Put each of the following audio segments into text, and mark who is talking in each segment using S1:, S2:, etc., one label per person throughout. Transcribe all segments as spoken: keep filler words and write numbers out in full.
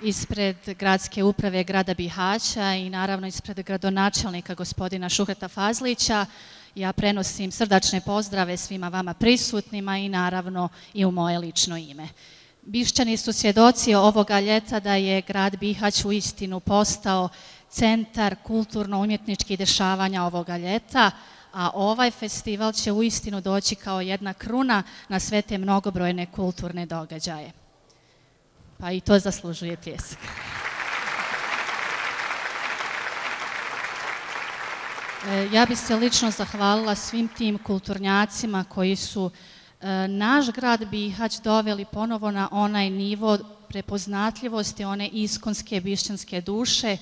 S1: ispred gradske uprave grada Bihaća i naravno ispred gradonačelnika gospodina Šuhreta Fazlića. Ja prenosim srdačne pozdrave svima vama prisutnima i naravno i u moje lično ime. Bišćani su svjedoci ovoga ljeta da je grad Bihać uistinu postao centar kulturno-umjetničkih dešavanja ovoga ljeta, a ovaj festival će uistinu doći kao jedna kruna na sve te mnogobrojne kulturne događaje. Pa i to zaslužuje pljesak. Ja bih se lično zahvalila svim tim kulturnjacima koji su naš grad Bihać doveli ponovo na onaj nivo prepoznatljivosti, one iskonske bišćanske duše,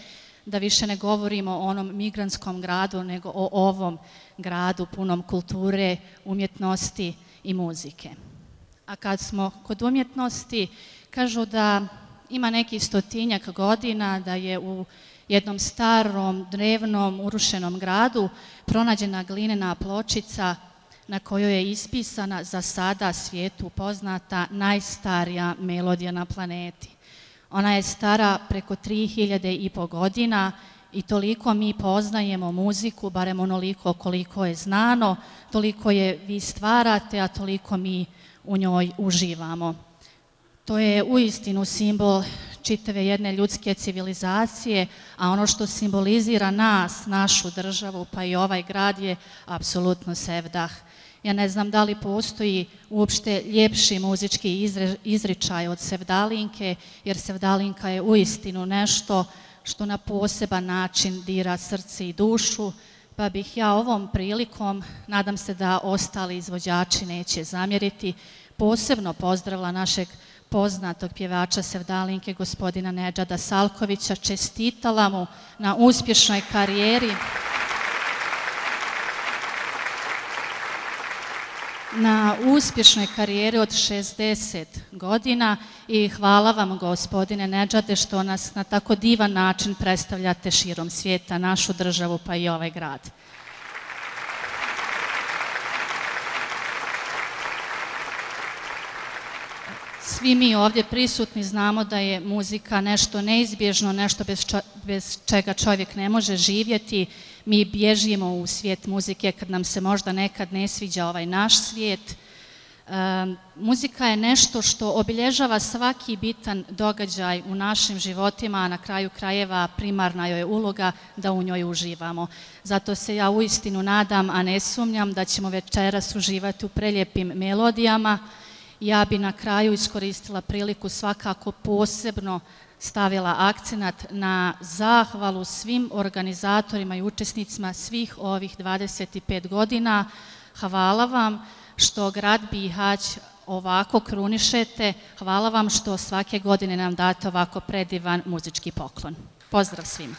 S1: da više ne govorimo o onom migrantskom gradu, nego o ovom gradu punom kulture, umjetnosti i muzike. A kad smo kod umjetnosti, kažu da ima nekih stotinjak godina da je u jednom starom, drevnom, urušenom gradu pronađena glinena pločica na kojoj je ispisana za sada svijetu poznata najstarija melodija na planeti. Ona je stara preko tri hiljade i po godina i toliko mi poznajemo muziku, barem onoliko koliko je znano, toliko je vi stvarate, a toliko mi u njoj uživamo. To je uistinu simbol čitave jedne ljudske civilizacije, a ono što simbolizira nas, našu državu, pa i ovaj grad je apsolutno sevdah. Ja ne znam da li postoji uopšte ljepši muzički izričaj od sevdalinke, jer sevdalinka je uistinu nešto što na poseban način dira srce i dušu, pa bih ja ovom prilikom, nadam se da ostali izvođači neće zamjeriti, posebno pozdravila našeg poznatog pjevača sevdalinke, gospodina Nedžada Salkovića, čestitala mu na uspješnoj karijeri, na uspješnoj karijeri od šezdeset godina i hvala vam, gospodine Nedžade, što nas na tako divan način predstavljate širom svijeta, našu državu pa i ovaj grad. Svi mi ovdje prisutni znamo da je muzika nešto neizbježno, nešto bez, čo, bez čega čovjek ne može živjeti. Mi bježimo u svijet muzike kad nam se možda nekad ne sviđa ovaj naš svijet. E, muzika je nešto što obilježava svaki bitan događaj u našim životima, a na kraju krajeva primarna joj je uloga da u njoj uživamo. Zato se ja uistinu nadam, a ne sumnjam, da ćemo večeras uživati u preljepim melodijama. Ja bi na kraju iskoristila priliku svakako posebno stavila akcenat na zahvalu svim organizatorima i učesnicima svih ovih dvadeset pet godina. Hvala vam što grad Bihać ovako krunišete, hvala vam što svake godine nam date ovako predivan muzički poklon. Pozdrav svima!